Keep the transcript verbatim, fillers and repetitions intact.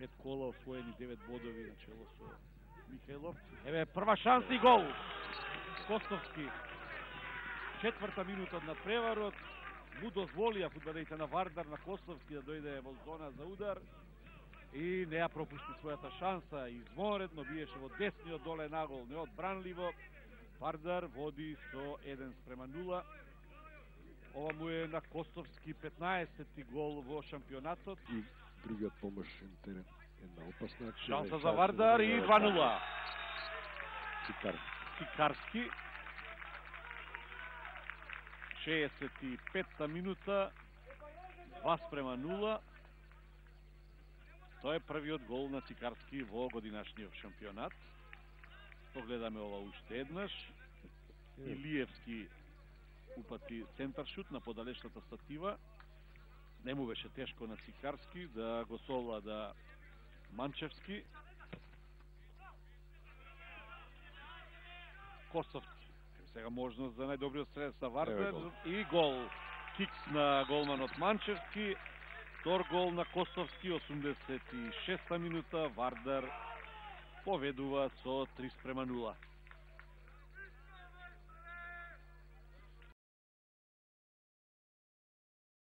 пет кола, освоени девет бодови на чело со Михајлов. Еве прва шанса и гол. Костовски. Четврта минута од надпреварот. Му дозволија фудбалерите на Вардар на Костовски да дојде во зона за удар и не ја пропушти својата шанса. Извонредно биеше во десниот доле нагол, неодбранливо. Вардар води со еден спрема нула. Ова му е на Костовски петнаесети гол во шампионатот. И другиот помошен терен. Една опасна шанса за Вардар и два нула. Цикарски. Цикарски. шеесет и петта минута. два спрема нула. Тоа е првиот гол на Цикарски во годинашниот шампионат. Погледаме ова уште еднаш. Илиевски упати центаршут на подалечната статива. Не му беше тешко на Цикарски да го совлада Манчевски. Костовски. Сега можност за најдобриот стрелец на Вардар и гол. Кикс на голманот Манчевски. Втор гол на Костовски, осумдесет и шеста минута. Вардар поведува со три спрема нула.